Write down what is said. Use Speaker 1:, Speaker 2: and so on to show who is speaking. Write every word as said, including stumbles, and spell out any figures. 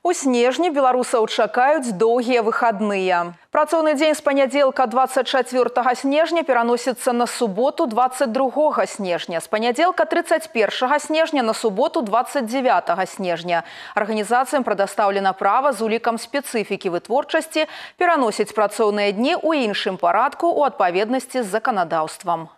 Speaker 1: У снежні беларусаў чакаюць доўгія выхадныя. Працоўны дзень з панядзелка двадцать чацвёртага снежня пераносіцца на суботу двадцать другога снежня. З панядзелка тридцать первого снежня на суботу двадцать девятого снежня. Арганізацыям прадастаўлена права з улікам спецыфікі вытворчасці пераносіць працоўныя дні ў іншым парадку ў адпаведнасці з заканадаўствам.